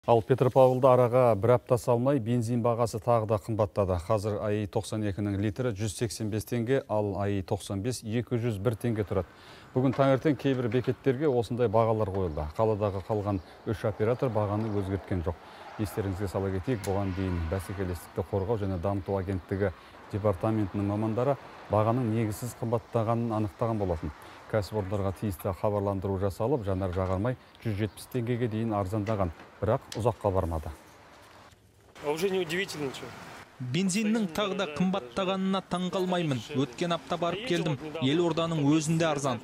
Ал Петропавлда араға бір апта салмай бензин бағасы тағы да қымбаттады. Қазір АИ 92-нің литрі 185 теңге, ал АИ 95 201 теңге тұрады. Бүгін таңертең кейбір бекеттерге осындай бағалар қойылды. Қаладағы қалған 3 оператор бағаны өзгерткен жоқ. Естеріңізге сала кетейік, бұған дейін бәсекелестікті қорғау және дамыту агенттігі департаментінің мамандары бағаның негізсіз қымбаттағанын анықтаған болатын. Кәсіпорындарға тиісті хабарландыру жасалып, жанар-жағармай 170 теңгеге дейін арзандаған, бірақ ұзаққа бармады. Уже не удивительно, что. Бензиннің тағы да қымбаттағанына таңғалмаймын. Өткен апта барып келдім. Елорданың өзінде арзан.